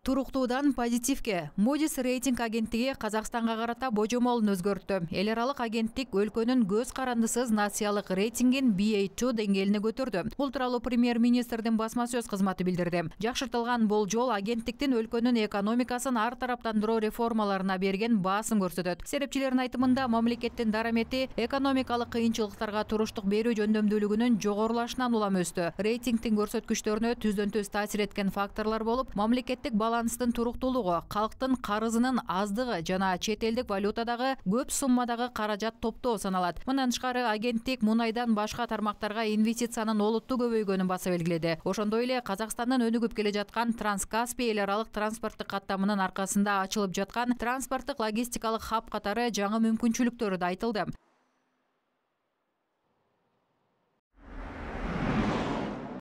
Туруктуудан позитивке. Moody's рейтинг агенттиги Казакстанга карата божомолун өзгөрттү. Эл аралык агенттик өлкөнүн көз карандысыз нациялык рейтингин Ba2 деңгээлине көтөрдү. Бул тууралуу премьер-министрдин басма сөз кызматы билдирди. Жакшыртылган болжол агенттиктин өлкөнүн экономикасын ар тараптандыруу реформаларына берген баасын көрсөтөт. Серепчилердин айтымында мамлекеттин дарамети экономикалык кыйынчылыктарга туруштук берүү жөндөмдүүлүгүнүн жогорулашынан улам өстү. Рейтингдин көрсөткүчтөрүнө түздөн-түз таасир эткен факторлор болуп, мамлекеттик баланстын туруктуулугу, калктын карызынын аздыгы жана чет элдик валютадагы көп суммадагы каражат топтоо саналат. Мындан тышкары агенттик мунайдан башка тармактарга инвестициянын олуттуу көбөйгөнүн баса белгиледи. Ошондой эле Казакстандын өнүгүп келе жаткан Транскаспий эл аралык транспорттук каттамынын аркасында ачылып жаткан транспорттук логистикалык хаб катары жаңы мүмкүнчүлүктөрү да айтылды.